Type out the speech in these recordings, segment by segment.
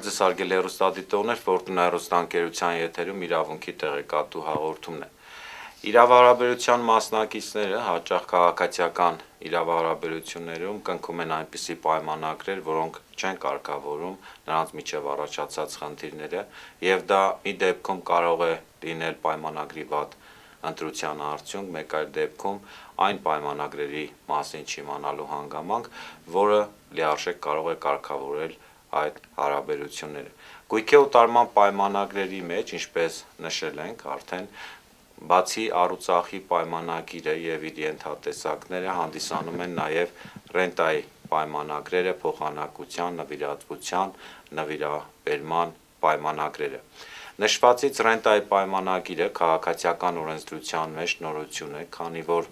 ձեզ հարգելի հեռուստադիտողներ, Ֆորտունա հեռուստաընկերության եթերում իրավունքի տեղեկատու հաղորդումն է։ Իրավահարաբերության մասնակիցները հաճախ քաղաքացիական իրավահարաբերություններում կնքում են այնպիսի պայմանագրեր, որոնք չեն կարգավորում նրանց միջև առաջացած խնդիրները, եւ դա մի դեպքում կարող է լինել պայմանագրի վատ ընտրության արդյունք, մեկ այլ դեպքում այն պայմանագրերի մասին չիմանալու հանգամանք, որը լիարժեք կարող է կարգավորել այդ հարաբերությունները։ Գույքի օտարման պայմանագրերի մեջ, ինչպես նշել ենք արդեն, բացի առուծախի պայմանագիրը եւ իր ենթատեսակները հանդիսանում են նաեւ ռենտայի պայմանագրերը, փոխանակության, նվիրատվության, նվիրաբերման պայմանագրերը։ Նշվածից ռենտայի պայմանագիրը քաղաքացիական օրենսդրության մեջ նորություն է, քանի որ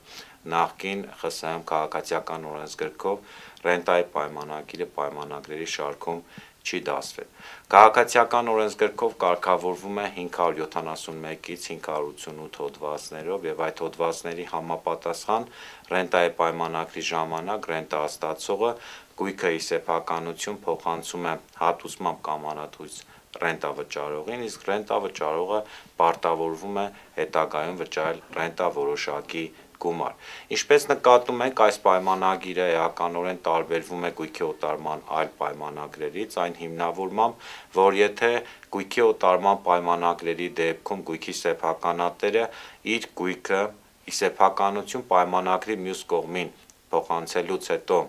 նախկին ԽՍՀՄ քաղաքացիական օրենսգրքով ռենտայի պայմանագիրը պայմանագրերի շարքում չի դասվել։ Քաղաքացիական օրենսգրքով կարգավորվում է 571-ից 588 հոդվածներով եւ այդ հոդվածների համապատասխան ռենտայի պայմանագրի ժամանակ ռենտա ստացողը գույքը ի սեփականություն փոխանցում է հատուցմամբ կամ անհատույց ռենտա վճարողին, իսկ ռենտա վճարողը պարտավորվում է հետագայում վճարել ռենտա որոշակի գումար։ Ինչպես նկատում ենք, այս պայմանագիրը էականորեն տարբերվում է գույքի օտարման այլ պայմանագրերից այն հիմնավորմամբ, որ եթե գույքի օտարման պայմանագրերի դեպքում գույքի սեփականատերը իր գույքը ի սեփականություն պայմանագրի մյուս կողմին փոխանցելուց հետո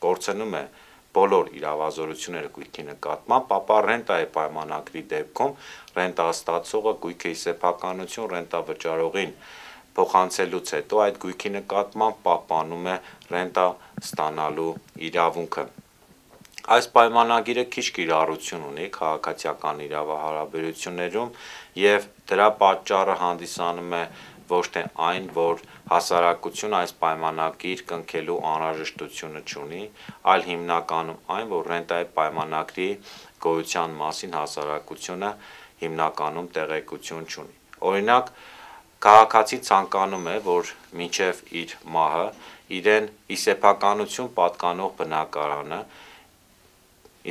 կորցնում է բոլոր իրավազորությունները գույքի նկատմամբ, ապա ռենտայի պայմանագրի դեպքում ռենտաստացողը գույքը ի սեփականություն ռենտա վճարողին փոխանցելուց հետո այդ գույքի նկատմամբ պահպանում է ռենտա ստանալու իրավունքը։ Այս պայմանագիրը քիչ կիրառություն ունի քաղաքացիական իրավահարաբերություններում եւ դրա պատճառը հանդիսանում է ոչ թե այն, որ հասարակությունը այս պայմանագիր կնքելու անհրաժեշտությունը չունի, այլ հիմնականում այն, որ ռենտայի պայմանագրի գոյության մասին հասարակությունը հիմնականում տեղեկություն չունի։ Օրինակ, քաղաքացին ցանկանում է, որ մինչև իր մահը իրեն ի սեփականություն պատկանող բնակարանը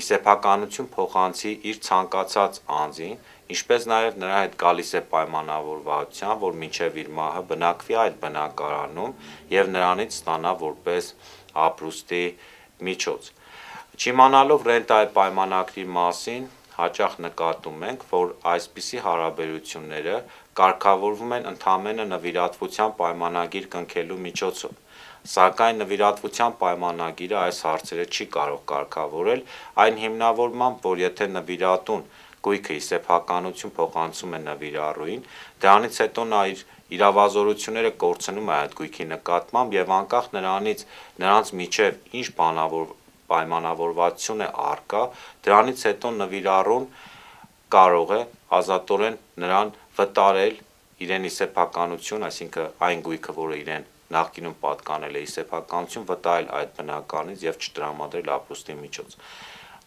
ի սեփականություն փոխանցի իր ցանկացած անձին, ինչպես նաև նրա հետ գալիս է պայմանավորվածության, որ մինչև իր մահը բնակվի այդ բնակարանում եւ նրանից ստանա որպես ապրուստի միջոց։ Չիմանալով ռենտայի պայմանագրի մասին, հաճախ նկատում ենք, որ այսպիսի հարաբերությունները կարգավորվում են ընդամենը նվիրատվության պայմանագիր կնքելու միջոցով, սակայն նվիրատվության պայմանագիրը այս հարցերը չի կարող կարգավորել այն հիմնավորմամբ, որ եթե նվիրատուն գույքը ի սեփականություն փոխանցում է նվիրառուին, դրանից հետո նա իր իրավազորությունները կորցնում է այդ գույքի նկատմամբ եւ անկախ նրանից նրանց միջև ինչ պայմանավորվածություն է առկա, դրանից հետո նվիրառուն կարող է ազատորեն նրան վտարել իրեն ի սեփականություն, այսինքն այն գույքը, որը իրեն նախկինում պատկանել է ի սեփականություն, վտարել այդ բնակարանից եւ չտրամադրել ապրուստի միջոց։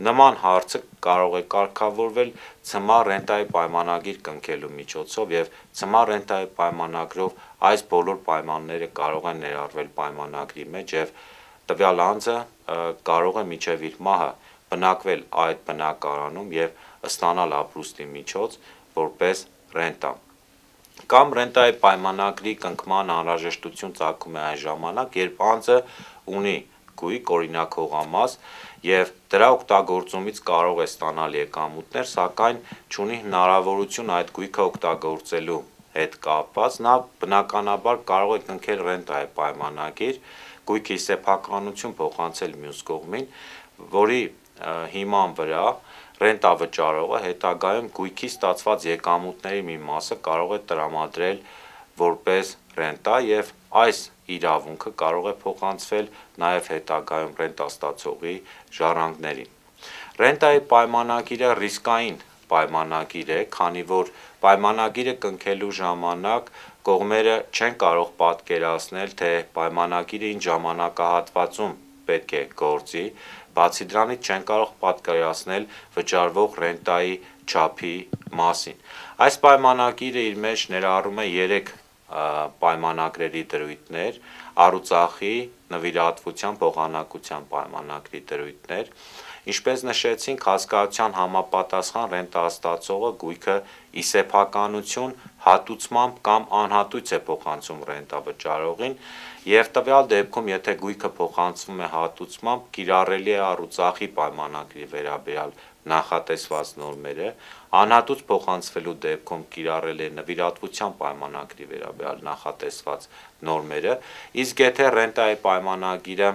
Նման հարցը կարող է կարգավորվել ցմահ ռենտայի պայմանագիր կնքելու միջոցով եւ ցմահ ռենտայի պայմանագրով այս բոլոր պայմանները կարող են ներառվել պայմանագրի մեջ եւ տվյալ անձը կարող է մինչև իր մահը բնակվել այդ բնակարանում եւ ստանալ ապրուստի միջոց որպես ռենտա։ Կամ ռենտայի պայմանագրի կնքման անհրաժեշտություն ծագում է այն ժամանակ, երբ անձը ունի գույք, օրինակ հողամաս, եւ դրա օգտագործումից կարող է ստանալ եկամուտներ, սակայն չունի հնարավորություն այդ գույքը օգտագործելու հետ կապված, նա բնականաբար կարող է կնքել ռենտայի պայմանագիր, գույքի սեփականություն փոխանցել մյուս կողմին, որի հիման վրա ռենտա վճարողը հետագայում գույքի ստացված եկամուտների մի մասը կարող է տրամադրել որպես ռենտա եւ այս իրավունքը կարող է փոխանցվել նաեւ հետագայում ռենտա ստացողի ժառանգներին։ Ռենտայի պայմանագիրը ռիսկային պայմանագիր է, քանի որ պայմանագիրը կնքելու ժամանակ կողմերը չեն կարող պատկերացնել, թե պայմանագիրը ինչ ժամանակահատվածում պետք է գործի, բացի դրանից չեն կարող պատկերացնել վճարվող ռենտայի չափի մասին։ Այս պայմանագիրը իր մեջ ներառում է 3 պայմանագրերի դրույթներ՝ առուծախի, նվիրատվության, փոխանակության պայմանագրի դրույթներ, Ինչպես նշեցինք, հասկացության համապատասխան ռենտա ստացողը գույքը ի սեփականություն հատուցմամբ կամ անհատույց է փոխանցում ռենտա վճարողին, եւ տվյալ դեպքում, եթե գույքը փոխանցվում է հատուցմամբ, կիրառելի է առուծախի պայմանագրի վերաբերյալ նախատեսված նորմերը, անհատուց փոխանցվելու դեպքում կիրառել է նվիրատվության պայմանագրի վերաբերյալ նախատեսված նորմերը, իսկ եթե ռենտայի պայմանագիրը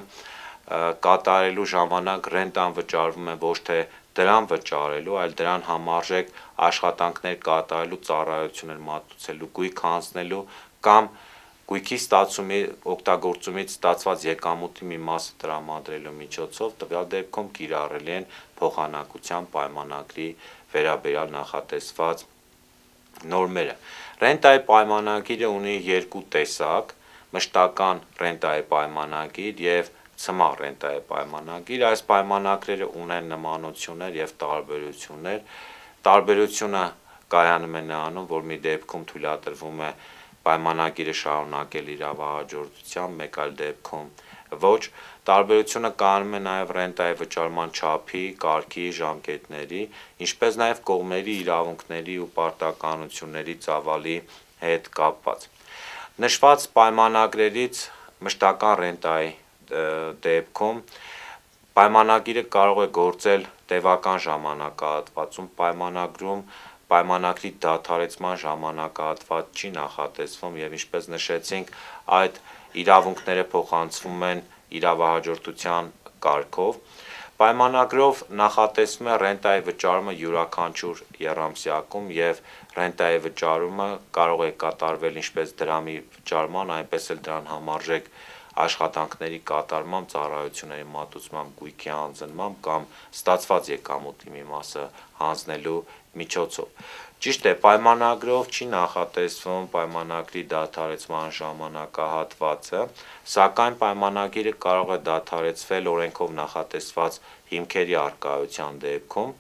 կատարելու ժամանակ ռենտան վճարվում է ոչ թե դրան վճարելու, այլ դրան համարժեք աշխատանքներ կատարելու, ծառայություններ մատուցելու, գույք հանձնելու կամ գույքի ստացումի օգտագործումից ստացված եկամուտի մի մասը տրամադրելու միջոցով տվյալ դեպքում կիրառելի են փոխանակության պայմանագրի վերաբերյալ նախատեսված նորմերը։ Ռենտայի պայմանագիրը ունի երկու տեսակ՝ մշտական ռենտայի պայմանագիր եւ ցմահ ռենտայի պայմանագիր։ Այս պայմանագրերը ունեն նմանություններ եւ տարբերություններ։ Տարբերությունը կայանում է նրանում, որ մի դեպքում թույլատրվում է պայմանագիրը շարունակել իրավահաջորդությամբ, մեկ այլ դեպքում ոչ։ Տարբերությունը կայանում է նաև ռենտայի վճարման չափի, կարգի, ժամկետների, ինչպես նաև կողմերի իրավունքների ու պարտականությունների ծավալի հետ կապված։ Նշված պայմանագրերից մշտական ռենտայի դեպքում պայմանագիրը կարող է գործել տևական ժամանակահատվածում, պայմանագրի դադարեցման ժամանակահատված չի նախատեսվում եւ ինչպես նշեցինք, այդ իրավունքները փոխանցվում են իրավահաջորդության կարգով։ Պայմանագրով նախատեսվում է ռենտայի վճարումը յուրաքանչյուր եռամսյակում եւ ռենտայի վճարումը կարող է կատարվել ինչպես դրամի վճարման, այնպես էլ դրան համարժեք աշխատանքների կատարմամբ, ծառայությունների մատուցմամբ, գույքի հանձնմամբ կամ ստացված եկամուտի մի մասը հանձնելու միջոցով։ Ճիշտ է, պայմանագրով չի նախատեսվում պայմանագրի դադարեցման ժամանակահատվածը, սակայն պայմանագիրը կարող է դադարեցվել օրենքով նախատեսված հիմքերի առկայության դեպքում։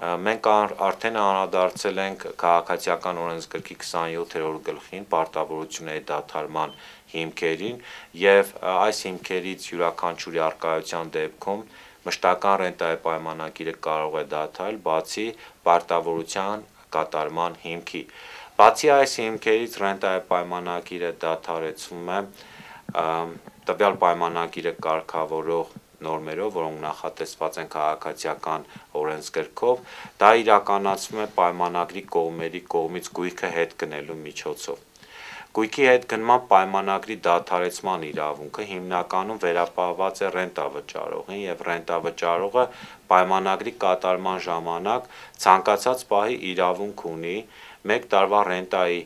Մենք արդեն անդրադարձել ենք Քաղաքացիական օրենսգրքի 27-րդ գլխին պարտավորությունների դադարման հիմքերին եւ այս հիմքերից յուրաքանչյուրի առկայության դեպքում մշտական ռենտայի պայմանագիրը կարող է դադարել բացի պարտավորության կատարման հիմքի։ Բացի այս հիմքերից ռենտայի պայմանագիրը դադարեցվում է տվյալ պայմանագիրը կարգավորող նորմերով, որոնք նախատեսված են Քաղաքացիական օրենսգրքով, դա իրականացվում է պայմանագրի կողմերի կողմից գույքը հետ գնելու միջոցով։ Գույքի հետ գնման պայմանագրի դադարեցման իրավունքը հիմնականում վերապահված է ռենտա վճարողին եւ ռենտա վճարողը պայմանագրի կատարման ժամանակ ցանկացած պահի իրավունք ունի 1 տարվա ռենտայի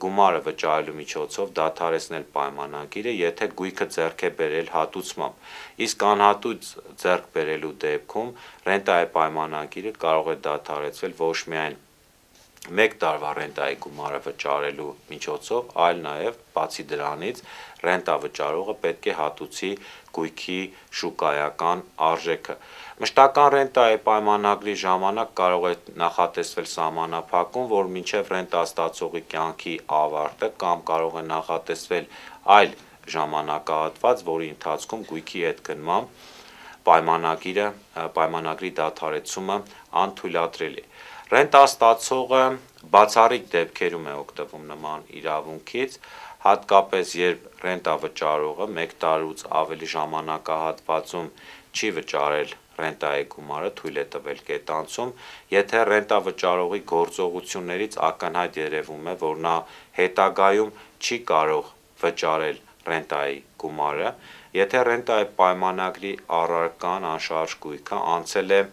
գումարը վճարելու միջոցով դադարեցնել պայմանագիրը, եթե գույքը ձեռք է բերել հատուցմամբ, իսկ անհատույց ձեռք բերելու դեպքում ռենտայի պայմանագիրը կարող է դադարեցվել ոչ միայն 1 տարվա ռենտայի գումարը վճարելու միջոցով, այլ նաև բացի դրանից ռենտա վճարողը պետք է հատուցի գույքի շուկայական արժեքը։ Մշտական ռենտայի պայմանագրի ժամանակ կարող է նախատեսվել սահմանափակում, որ մինչև ռենտա ստացողի կյանքի ավարտը կամ կարող է նախատեսվել այլ ժամանակահատված, որի ընթացքում գույքի հետ գնմամբ պայմանագրի դադարեցումը անթույլատրելի է։ Ռենտա ստացողը բացառիկ դեպքերում է օգտվում նման իրավունքից, հատկապես երբ ռենտա վճարողը 1 տարուց ավելի ժամանակահատվածում չի վճարել ռենտայի գումարը, թույլ է տվել կետանցում, եթե ռենտա վճարողի գործողություններից ակնհայտ երևում է, որ նա հետագայում չի կարող վճարել ռենտայի գումարը, եթե ռենտայի պայմանագրի առարկան անշարժ գույքը անցել է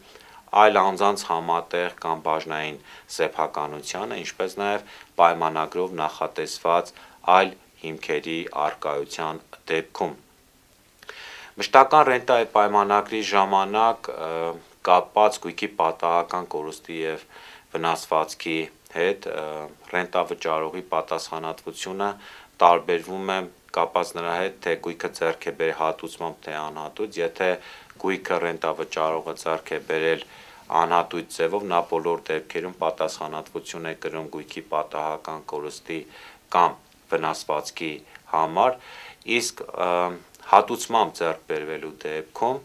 այլ անձանց համատեղ կամ բաժնային սեփականությանը, ինչպես նաև պայմանագրով նախատեսված այլ հիմքերի առկայության դեպքում։ Մշտական ռենտայի պայմանագրի ժամանակ կապված գույքի պատահական կորուստի եւ վնասվածքի հետ ռենտա վճարողի պատասխանատվությունը տարբերվում է կապված նրա հետ, թե գույքը ձեռք է բերել հատուցմամբ, թե անհատույց, եթե գույքը ռենտա վճարողը ձեռք է բերել անհատույց ձևով, նա բոլոր դեպքերում պատասխանատվություն է կրում գույքի պատահական կորուստի կամ վնասվածքի համար, իսկ հատուցմամբ ձեռք բերվելու դեպքում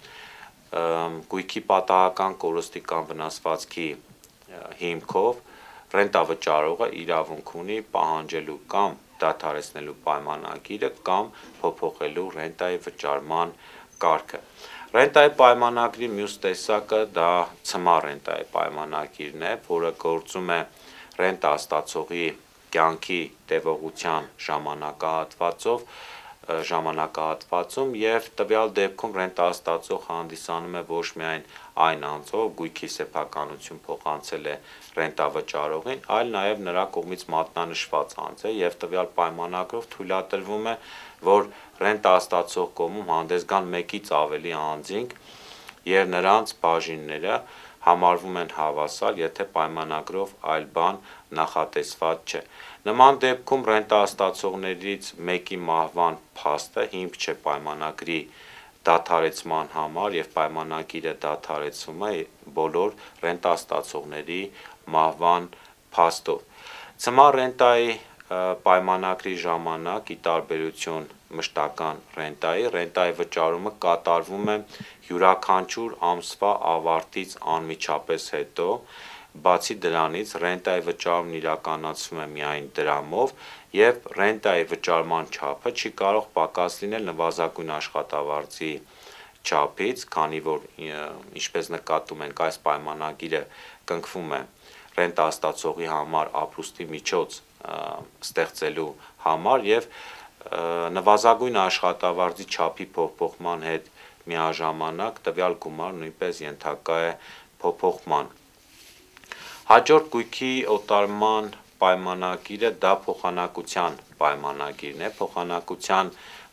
գույքի պատահական կորստի կամ վնասվածքի հիմքով ռենտավճարողը իրավունք ունի պահանջելու կամ դադարեցնելու պայմանագիրը կամ փոփոխելու ռենտայի վճարման կարգը։ Ռենտայի պայմանագրի մյուս տեսակը դա ցմահ ռենտայի պայմանագիրն է, որը գործում է ռենտա ստացողի կյանքի տևողության ժամանակահատվածում եւ տվյալ դեպքում ռենտաստացող հանդիսանում է ոչ միայն այն անձը, ով գույքի սեփականություն փոխանցել է ռենտավճարողին, այլ նաեւ նրա կողմից մատնանշված անձ է եւ տվյալ պայմանագրով թույլատրվում է, որ ռենտաստացող կողմում հանդես գան մեկից ավելի անձինք եւ նրանց բաժինները համարվում են հավասար, եթե պայմանագրով այլ բան նախատեսված չէ։ Նման դեպքում ռենտաստացողներից մեկի մահվան փաստը հիմք չէ պայմանագրի դադարեցման համար եւ պայմանագիրը դադարեցվում է բոլոր ռենտաստացողների մահվան փաստով։ Ցմահ ռենտայի պայմանագրի ժամանակ, ի տարբերություն մշտական ռենտայի վճարումը կատարվում է յուրաքանչյուր ամսվա ավարտից անմիջապես հետո, բացի դրանից ռենտայի վճարումն իրականացվում է միայն դրամով եւ ռենտայի վճարման չափը չի կարող պակաս լինել նվազագույն աշխատավարձի չափից, քանի որ ինչպես նկատում ենք այս պայմանագիրը կնքվում է ռենտաստացողի համար ապրուստի միջոց ստեղծելու համար եւ նվազագույն աշխատավարձի չափի փոփոխման հետ միաժամանակ տվյալ գումար նույնպես ենթակա է փոփոխման։ Հաջորդ գույքի օտարման պայմանագիրը դա փոխանակության պայմանագիրն է։ Փոխանակության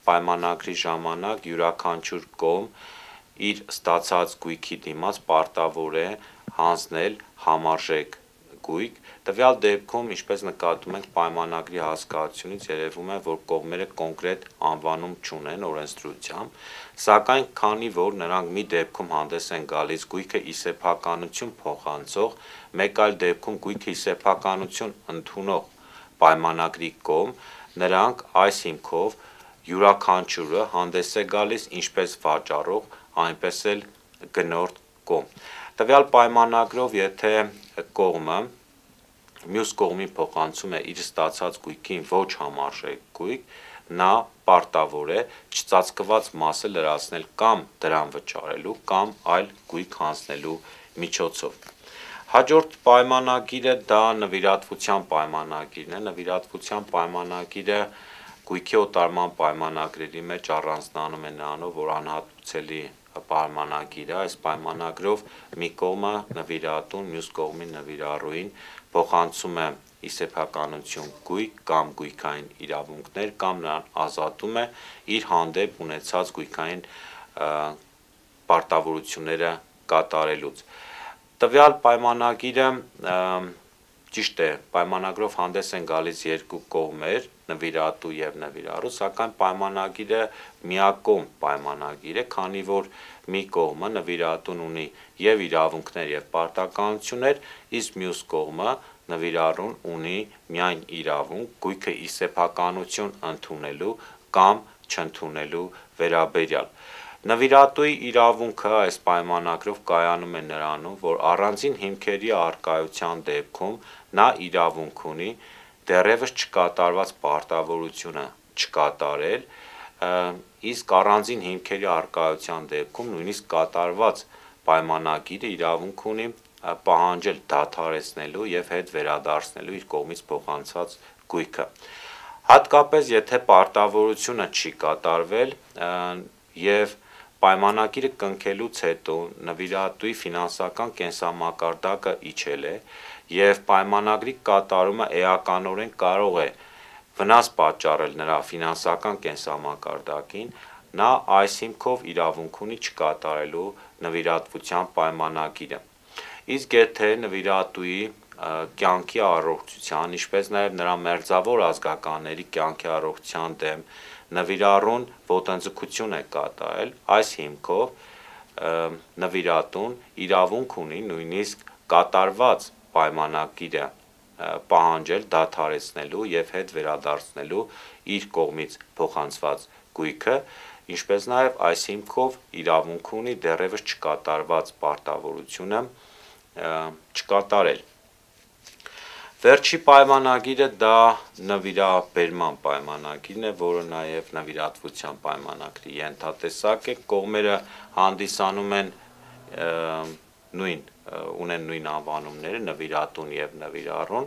պայմանագրի ժամանակ յուրաքանչյուր կողմ իր ստացած գույքի դիմաց պարտավոր է հանձնել համարժեք գույք։ Տվյալ դեպքում, ինչպես նկատում ենք պայմանագրի հասկացությունից երևում է, որ կողմերը կոնկրետ անվանում չունեն օրենսդրությամբ, սակայն քանի որ նրանք մի դեպքում հանդես են գալիս գույքը ի սեփականություն փոխանցող, մեկ այլ դեպքում գույքը ի սեփականություն ընդունող պայմանագրի կողմ, նրանք այս հիմքով յուրաքանչյուրը հանդես է գալիս ինչպես վաճառող, այնպես էլ գնորդ կողմ։ Տվյալ պայմանագրով, եթե կողմը մյուս կողմին փոխանցում է իր ստացած գույքին ոչ համարժեք գույք, նա պարտավոր է չծածկված մասը լրացնել կամ դրամ վճարելու կամ այլ գույք հանձնելու միջոցով։ Հաջորդ պայմանագիրը դա նվիրատվության պայմանագիրն է։ Նվիրատվության պայմանագիրը գույքի օտարման պայմանագրերի մեջ առանձնանում է նրանով, որ անհատուցելի պայմանագիր է։ Այս պայմանագրով մի կողմը նվիրատուն, մյուս կողմին նվիրառուին փոխանցում է ի սեփականություն գույք կամ գույքային իրավունքներ կամ նրան ազատում է իր հանդեպ ունեցած գույքային պարտավորությունները կատարելուց։ Տվյալ պայմանագիրը ճիշտ է, պայմանագրով հանդես են գալիս երկու կողմեր, նվիրատու եւ նվիրառու, սակայն պայմանագիրը միակողմ պայմանագիր է, քանի որ մի կողմը նվիրատուն ունի եւ իրավունքներ եւ պարտականություններ, իսկ մյուս կողմը նվիրառուն ունի միայն իրավունք գույքը ի սեփականություն ընդունելու կամ չընդունելու վերաբերյալ։ Նվիրատուի իրավունքը այս պայմանագրով կայանում է նրանում, որ առանձին հիմքերի առկայության դեպքում նա իրավունք ունի դեռևս չկատարված պարտավորությունը չկատարել, իսկ առանձին հիմքերի առկայության դեպքում նույնիսկ կատարված պայմանագիրը իրավունք ունի պահանջել դադարեցնելու եւ հետ վերադարձնելու իր կողմից փոխանցված գույքը։ Հատկապես եթե պարտավորությունը չի կատարվել եւ պայմանագիրը կնքելուց հետո նվիրատուի ֆինանսական կենսամակարդակը իջել է եւ պայմանագրի կատարումը էականորեն կարող է վնաս պատճառել նրա ֆինանսական կենսամակարդակին, նա այս հիմքով իրավունք ունի չկատարելու նվիրատվության պայմանագիրը։ Իսկ եթե նվիրատուի կյանքի առողջության, ինչպես նաև նրա մերձավոր ազգականների կյանքի առողջության դեմ նվիրառուն ոտնձգություն է կատարել, այս հիմքով նվիրատուն իրավունք ունի նույնիսկ կատարված պայմանագիրը պահանջել դադարեցնելու եւ հետ վերադարձնելու իր կողմից փոխանցված գույքը, ինչպես նաև այս հիմքով իրավունք ունի դեռևս չկատարված պարտավորությունը չկատարել։ Վերջի պայմանագիրը դա նվիրաբերման պայմանագիրն է, որը նաև նվիրատվության պայմանագրի ենթատեսակ է, կողմերը հանդիսանում են ունեն նույն անվանումները նվիրատուն և նվիրառուն,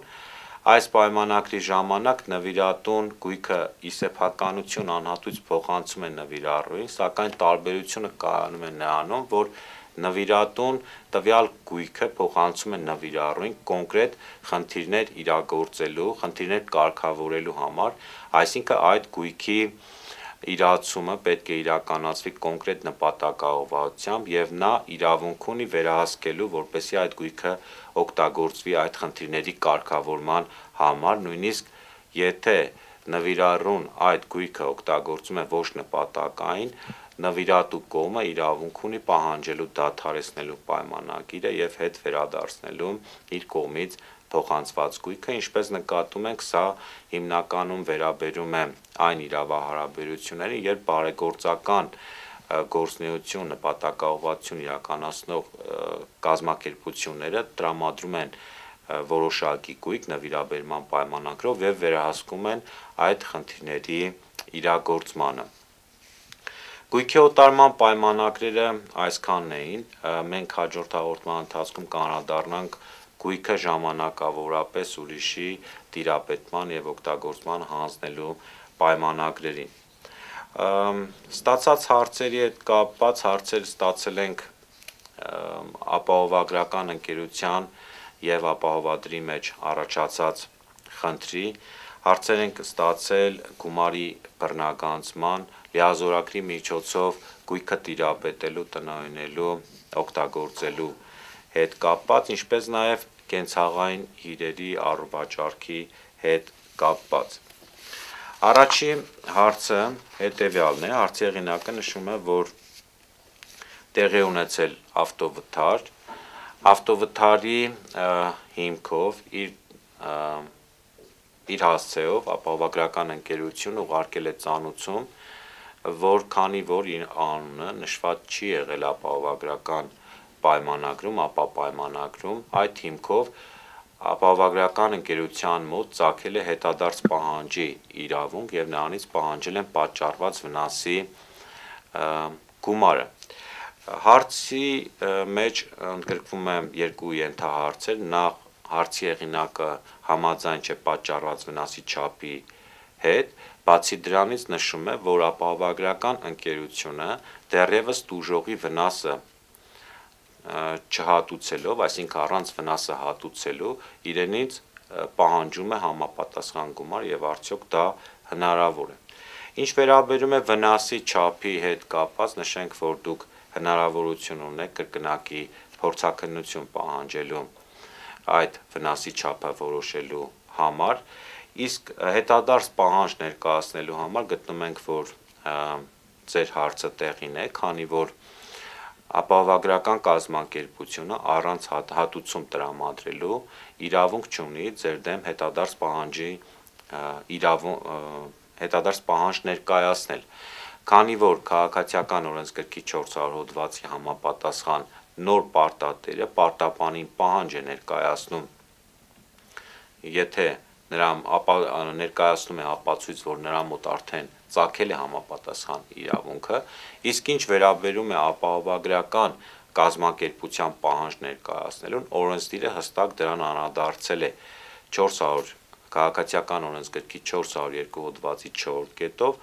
այս պայմանագրի ժամանակ նվիրատուն գույքը ի սեփականություն անհատույց փոխանցում է նվիրառուին, սակայն տարբերությունը կայանում է նրանում, որ նվիրատուն տվյալ գույքը փոխանցում է նվիրառուին կոնկրետ խնդիրներ իրագործելու, խնդիրներ կարգավորելու համար, այսինքն այդ գույքի իրացումը պետք է իրականացվի կոնկրետ նպատակաուղղությամբ և նա իրավունք ունի վերահսկելու, որպեսզի այդ գույքը օգտագործվի այդ խնդիրների կարգավորման համար, նույնիսկ եթե նվիրառուն այդ գույքը օգտագործում է ոչ նպատակային, նվիրատու կողմը իրավունք ունի պահանջելու դադարեցնելու պայմանագիրը և հետ վերադարձնելու իր կողմից փոխանցված գույքը, ինչպես նկատում ենք, սա հիմնականում վերաբերում է այն իրավահարաբերություններին, երբ բարեգործական գործունեություն, նպատակաուղղվածություն իրականացնող կազմակերպությունները տրամադրում են որոշակի գույք նվիրաբերման պայմանագրով և վերահսկում են այդ խնդիրների իրագործմանը։ Գույքի օտարման պայմանագրերը այսքանն էին, մենք հաջորդ հաղորդման ընթացքում կանդրադառնանք գույքը ժամանակավորապես ուրիշի տիրապետման և օգտագործման հանձնելու պայմանագրերին։ Ստացած հարցերի հետ կապված հարցեր ստացել ենք ապահովագրական ընկերության և ապահովադրի մեջ առաջացած խնդրի, հարցեր ենք ստացել գումարի բռնագանձման, լիազորագրի միջոցով գույքը տիրապետելու, տնօրինելու, օգտագործելու հետ կապված, ինչպես նաև կենցաղային իրերի առվաճառքի հետ կապված։ Առաջին հարցը հետևյալն է, հարցի հեղինակը նշում է, որ տեղի ունեցել ավտովթար, ավտովթարի հիմքով իր հասցեով ապահովագրական ընկերությունը ուղարկել է ծանուցում, որ քանի որ իր անունը նշված չի եղել ապահովագրական պայմանագրում, ապա պայմանագրում, այդ հիմքով ապահովագրական ընկերության մոտ ծագել է հետադարձ պահանջի իրավունք և նրանից պահանջել են պատճառված վնասի գումարը։ Հարցի մեջ ընդգրկվում են երկու ենթահարցեր, նախ հարցի հեղինակը համաձայն չէ պատճառված վնասի չափի հետ, բացի դրանից նշում է, որ ապահովագրական ընկերությունը դեռևս տուժողի վնասը չհատուցելով, այսինքն առանց վնասը հատուցելու, իրենից պահանջում է համապատասխան գումար և արդյոք դա հնարավոր է։ Ինչ վերաբերում է վնասի չափի հետ կապված, նշենք, որ դուք հնարավորություն ունեք կրկնակի փորձաքննություն պահանջելու այդ վնասի չափը որոշելու համար, իսկ հետադարձ պահանջ ներկայացնելու համար գտնում ենք, որ ձեր հարցը տեղին է, քանի որ ապահովագրական կազմակերպությունը առանց հատուցում տրամադրելու իրավունք չունի ձեր դեմ հետադարձ պահանջ ներկայացնել, քանի որ քաղաքացիական օրենսգրքի 400 հոդվածի համապատասխան նոր պարտատերը պարտապանին պահանջ է ներկայացնում, եթե ներկայացնում է ապացույց, որ նրա մոտ արդեն ծագել է համապատասխան իրավունքը, իսկ ինչ վերաբերում է ապահովագրական կազմակերպության պահանջ ներկայացնելուն, օրենսդիրը հստակ դրան անդրադարձել է քաղաքացիական օրենսգրքի 402 հոդվածի 4 կետով,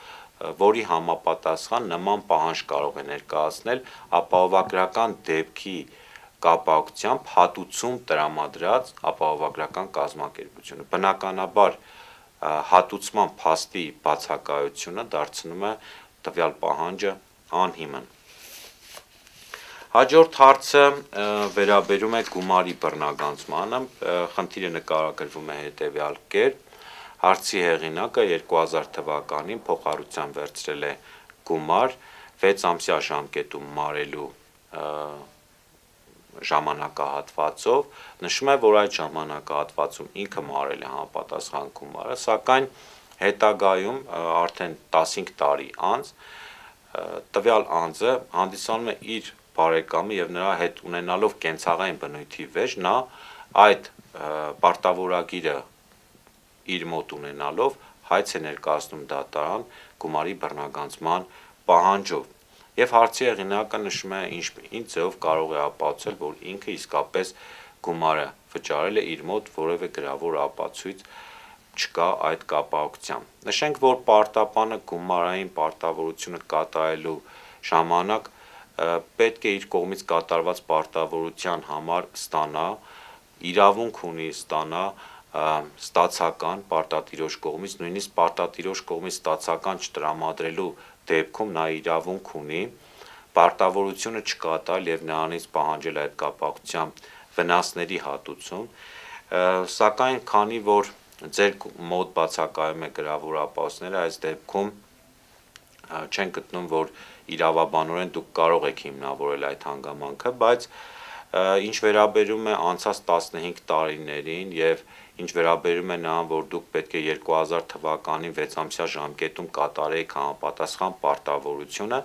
որի համապատասխան նման պահանջ կարող է ներկայացնել ապահովագրական դեպքի կապակցությամբ հատուցում տրամադրած ապահովագրական կազմակերպությունը։ Բնականաբար հատուցման փաստի բացակայությունը դարձնում է տվյալ պահանջը անհիմն։ Հաջորդ հարցը վերաբերում է գումարի բռնագանձմանը, խնդիրը նկարագրվում է հետևյալ կերպ, հարցի հեղինակը 2000 թվականին փոխհարուցության վերցրել է գումար 6 ամսյա ժամկետում մարելու ժամանակահատվածով, նշում է, որ այդ ժամանակահատվածում ինքը մարել է համապատասխան գումարը, սակայն հետագայում արդեն 15 տարի անց տվյալ անձը հանդիսանում է իր բարեկամը եւ նրա հետ ունենալով կենցաղային բնույթի վեճ, նա այդ պարտավորագիրը իր մոտ ունենալով հայց է ներկայացնում դատարան գումարի բռնագանձման պահանջով։ Եվ հարցի հեղինակը նշում է ինչ ձևով կարող է ապացուցել, որ ինքը իսկապես գումարը վճարել է իր մոտ որևէ գրավոր ապացույց չկա այդ կապակցությամբ։ Նշենք, որ պարտապանը գումարային պարտավորությունը կատարելու ժամանակ պետք է իր կողմից կատարված պարտավորության համար ստանա, իրավունք ունի ստանա ստացական պարտատիրոջ կողմից, նույնիսկ պարտատիրոջ կողմից ստացական չտրամադրելու դեպքում նա իրավունք ունի պարտավորությունը չկատարել եւ նրանից պահանջել այդ կապակցությամբ վնասների հատուցում, սակայն քանի որ ձեր մոտ բացակայում է գրավոր ապացույցները, այս դեպքում չեն գտնում, որ իրավաբանորեն դուք կարող եք հիմնավորել այդ հանգամանքը, բայց ինչ վերաբերում է անցած 15 տարիներին եւ ինչ վերաբերում է նրան, որ դուք պետք է 2000 թվականին 6-ամսյա ժամկետում կատարեիք համապատասխան պարտավորությունը,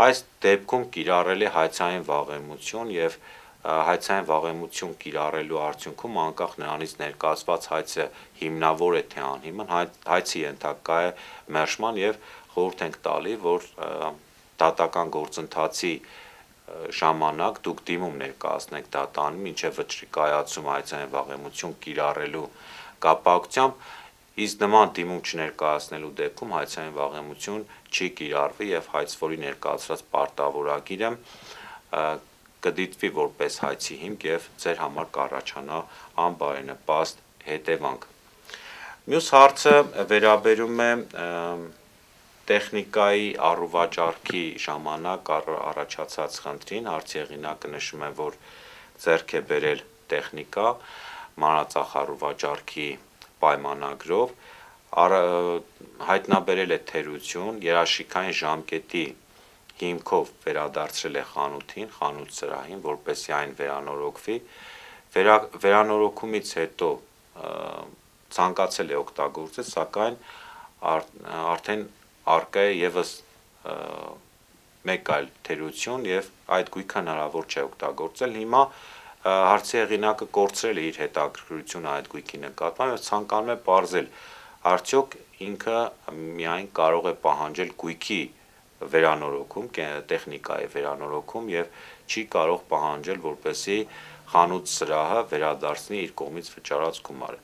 այս դեպքում կիրառել է հայցային վաղեմություն եւ հայցային վաղեմություն կիրառելու արդյունքում անկախ նրանից ներկայացված հայցը հիմնավոր է թե անհիմն, հայցի ենթակա է մերժման եւ խորհուրդ ենք տալի, որ դատական գործընթացի ժամանակ դուք դիմում ներկայացնեք դատարանին, մինչև վճռի կայացում հայցային վաղեմություն կիրառելու կապակցությամբ, իսկ նման դիմում չներկայացնելու դեպքում հայցային վաղեմություն չի կիրառվի եւ հայցվորի ներկայացրած պարտավորագիրը կդիտվի որպես հայցի հիմք եւ ձեր համար կառաջանա անբարենպաստ հետևանք։ Մյուս հարցը վերաբերում է տեխնիկայի առուվաճառքի ժամանակ առաջացած խնդրին, հարցի հեղինակը նշում է, որ ձեռք է բերել տեխնիկա մանրածախ առուվաճառքի պայմանագրով, հայտնաբերել է թերություն, երաշիկային ժամկետի հիմքով վերադարձրել է խանութին, խանութ սրահին, որպեսզի այն վերանորոգվի, վերանորոգումից հետո ցանկացել է օգտագործել, սակայն արդեն առկա է եւս մեկ այլ թերություն եւ այդ գույքը հնարավոր չէ օգտագործել։ Հիմա հարցի հեղինակը կորցրել է իր հետաքրքրությունը այդ գույքի նկատմամբ եւ ցանկանում է պարզել, արդյոք ինքը միայն կարող է պահանջել գույքի վերանորոգում, տեխնիկայի վերանորոգում եւ չի կարող պահանջել, որպեսզի խանութ սրահը վերադարձնի իր կողմից վճարած գումարը։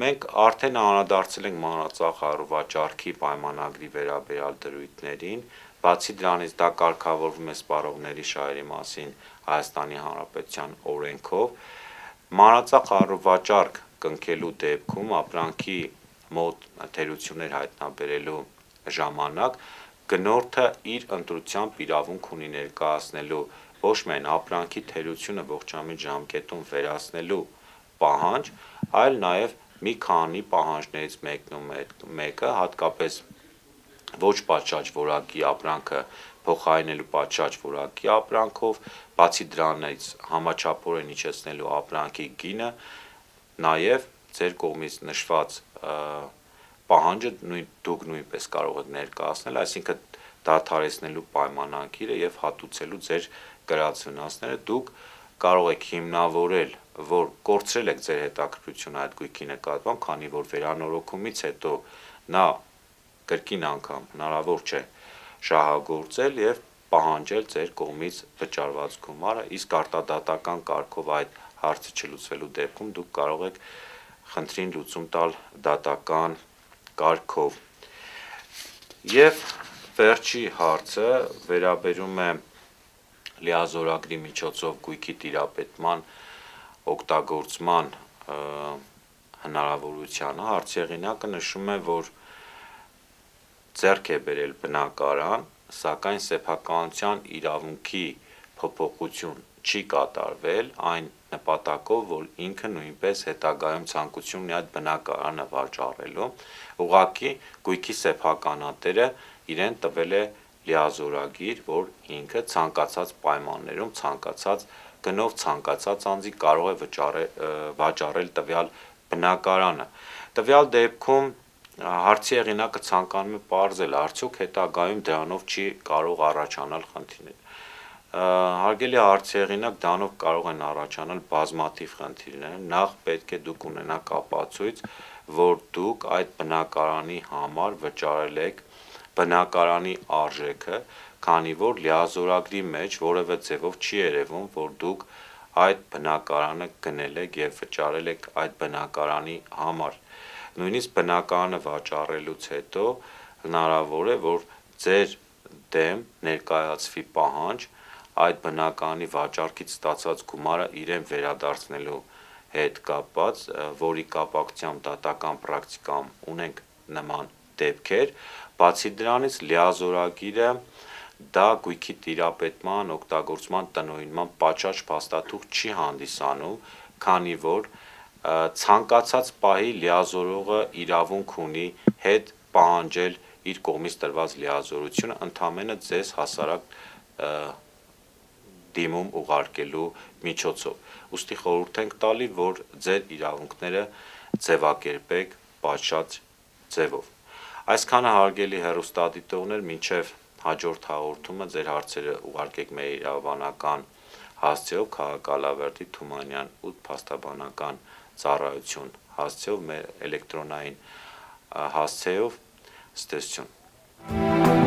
Մենք արդեն անդրադարձել ենք մանրածախ առուվաճառքի պայմանագրի վերաբերյալ դրույթներին, բացի դրանից դա կարգավորվում է սպառողների շահերի մասին Հայաստանի Հանրապետության օրենքով, մանրածախ առուվաճառք կնքելու դեպքում ապրանքի մոտ թերություններ հայտնաբերելու ժամանակ գնորդը իր ընտրությամբ իրավունք ունի ներկայացնելու ոչ միայն ապրանքի թերությունը ողջամիտ ժամկետում վերացնելու պահանջ, այլ նաև մի քանի պահանջներից մեկը, հատկապես ոչ պատշաճ որակի ապրանքը փոխարինելու պատշաճ որակի ապրանքով, բացի դրանից համաչափորեն իջեցնելու ապրանքի գինը, նաև ձեր կողմից նշված պահանջը դուք նույնպես կարող եք ներկայացնել, այսինքն դադարեցնելու պայմանագիրը եւ հատուցելու ձեր կրած վնասները, դուք կարող եք հիմնավորել, որ կորցրել եք ձեր հետաքրքրությունը այդ գույքի նկատմամբ, քանի որ վերանորոգումից հետո նա կրկին անգամ հնարավոր չէ շահագործել եւ պահանջել ձեր կողմից վճարված գումարը, իսկ արտադատական կարգով այդ հարցը չլուծվելու դեպքում դուք կարող եք խնդրին լուծում տալ դատական կարգով։ Եվ վերջի հարցը վերաբերում է լիազորագրի միջոցով գույքի տիրապետման օգտագործման հնարավորությանը, հարցի հեղինակը նշում է, որ ձեռք է բերել բնակարան, սակայն սեփականության իրավունքի փոփոխություն չի կատարվել այն նպատակով, որ ինքը նույնպես հետագայում ցանկություն ունի այդ բնակարանը վաճառելու, ուղղակի գույքի սեփականատերը իրեն տվել է լիազորագիր, որ ինքը ցանկացած պայմաններում, ցանկացած գնով, ցանկացած անձի կարող է վաճառել տվյալ բնակարանը։ Տվյալ դեպքում Հարցի հեղինակը ցանկանում է պարզել, արդյոք հետագայում դրանով չի կարող առաջանալ խնդիրներ։ Հարգելի հարցի հեղինակ, դրանով կարող են առաջանալ բազմաթիվ խնդիրներ։ Նախ պետք է դուք ունենաք ապացույց, որ դուք այդ բնակարանի համար վճարել եք բնակարանի արժեքը, քանի որ լիազորագրի մեջ որևէ ձևով չի երևում, որ դուք այդ բնակարանը գնել եք եւ վճարել եք այդ բնակարանի համար։ Նույնիսկ բնակարանը վաճառելուց հետո հնարավոր է, որ ձեր դեմ ներկայացվի պահանջ այդ բնակարանի վաճառքից ստացած գումարը իրեն վերադարձնելու հետ կապված, որի կապակցությամբ դատական պրակտիկայում ունենք նման դեպքեր, բացի դրանից լիազորագիրը դա գույքի տիրապետման, օգտագործման, տնօրինման պատշաճ փաստաթուղթ չի հանդիսանում, քանի որ ցանկացած պահի լիազորողը իրավունք ունի հետ պահանջել իր կողմից տրված լիազորությունը ընդամենը ձեզ հասարակ դիմում ուղարկելու միջոցով։ Ուստի խորհուրդ ենք տալի, որ ձեր իրավունքները ձևակերպեք պատշաճ ձևով։ Այսքանը հարգելի հեռուստադիտողներ, մինչև հաջորդ հաղորդումը ձեր հարցերը ուղարկեք մեր իրավաբանական հասցեով քաղաքալավերդի Թումանյան 8 փաստաբանական ծառայություն հասցեով մեր էլեկտրոնային հասցեով ստեսություն